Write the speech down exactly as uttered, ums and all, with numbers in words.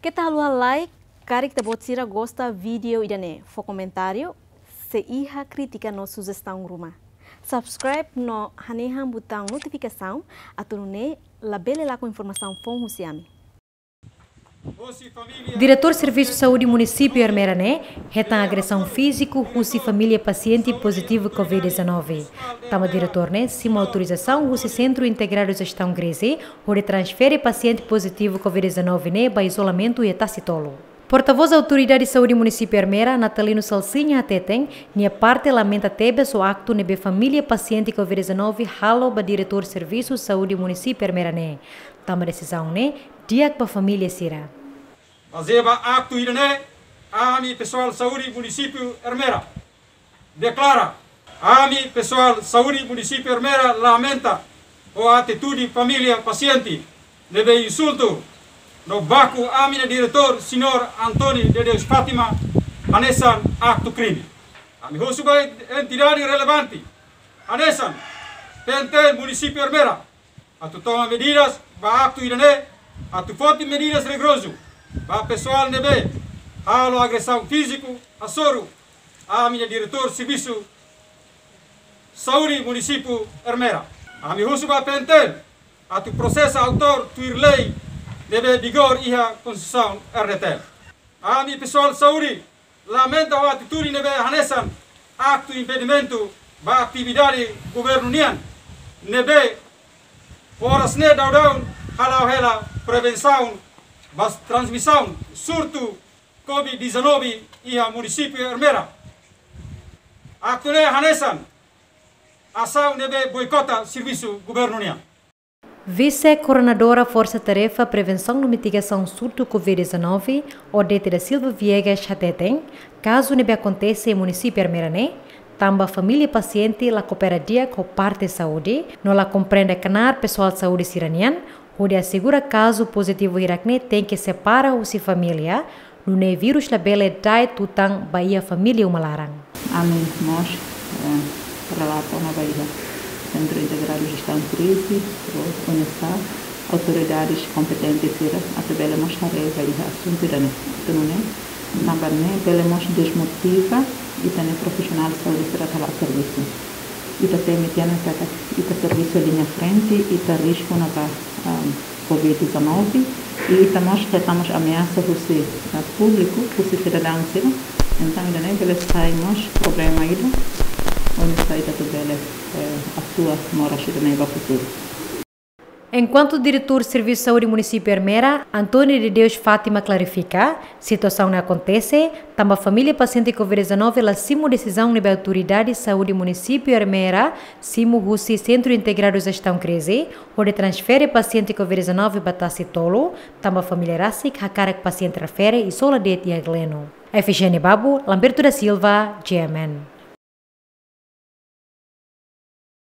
Keta haluha like, karik ita-boot sira gosta vídeo ida-ne'e, fó komentáriu, se iha krítika no sujestaun ruma. Subscribe no hanehan butaun notifikasaun, atu nune'e labele lakon informasaun foun husi ami. Diretór Servisu Saúde Munisípiu Ermera ne'e hetan agresaun fíziku husi família pasiente pozitivu covid dezanove. Tanba diretór ne'e simu autorizasaun husi Sentru Integradu Jestaun Krize, hodi transfere pasiente pozitivu covid dezanove ne'e ba izolamentu iha Tasitolu. Portavós Autoridade Saúde Munisípiu Ermera, Natalino Salsinha, hateten nia parte lamenta tebes ho aktu ne'ebé família pasiente covid dezanove halo ba Diretór Servisu Saúde Munisípiu Ermera ne'e. Tanba desizaun ne'e di'ak ba família sira. Bazeia ba aktu ida-ne'e, ami pesoál saúde munisípiu Ermera deklara, ami pesoál saúde munisípiu Ermera lamenta ho atitude família pasiente ne'ebé insultu no baku ami-nia diretór, Señór António de Deus Fátima, hanesan aktu krime. Ami husu ba entidade relevante, hanesan P N T L munisípiu Ermera, atu toma medidas ba aktu ida-ne'e, atu foti medidas rigorozu ba pesoál ne'ebé halo agresaun fíziku hasoru ami-nia diretór servisu saúde munisípiu Ermera. Ami husu ba P N T L atu prosesa autór tuir lei ne'ebé vigor iha Konstituisaun R D T L. Ami pesoál saúde lamenta ho atitude ne'ebé hanesan aktu impedimentu ba atividade governu nian, ne'ebé oras ne'e daudaun hala'o hela prevensaun ba transmisaun surtu covid dezanove iha munisípiu Ermera. Aktu ne'e hanesan asaun ne'ebé boikota servisu governu nian. Vise-Koordenadora Forsa Tarefa Prevensaun no Mitigasaun Surtu covid dezanove, Odete da Silva Viegas, hateten kazu ne'ebé akontese iha munisípiu Ermera ne'e tanba família pasiente la koopera di'ak ho parte saúde, no la komprende knaar pesoál saúde sira-nian, hodi asegura kazu pozitivu hirak ne'e tenke separa husi família, nune'e vírus labele da'et tutan ba iha família uma laran. Ami mós, eh, relata ona ba iha Sentru Integradu Jestaun Krize, ou UNISA, autoridades kompetentes sira atu bele mós haree ba iha asuntu ida-ne'e. Atu nune'e, tanba ne'e bele mós desmotiva ita-nia profisionál saúde sira atu hala'o servisu. Ita temi tiha ona katak ita servisu liña frente, ita risku ona ba, ah, covid dezanove, i ita mós hetan mós ameasa husi, ah, públiku, husi sidadaun sira. Entaun, ida-ne'e bele sai mós problema ida, oinsá ita atu bele, eh, atua moras ida-ne'e ba futuru. Enkuantu Diretór Servisu Saúde Munisípiu Ermera, António de Deus Fátima, klarifika, situasaun ne'e akontese tanba família pasiente covid dezanove la simu desizaun ne'ebé Autoridade Saúde Munisípiu Ermera simu husi Sentru Integradu Jestaun Krize, hodi transfere pasiente covid dezanove ba Tasitolu, tanba família rasik hakarak pasiente refere izola de'it iha Gleno. Efigénia Babu, Lamberto da Silva, G M N.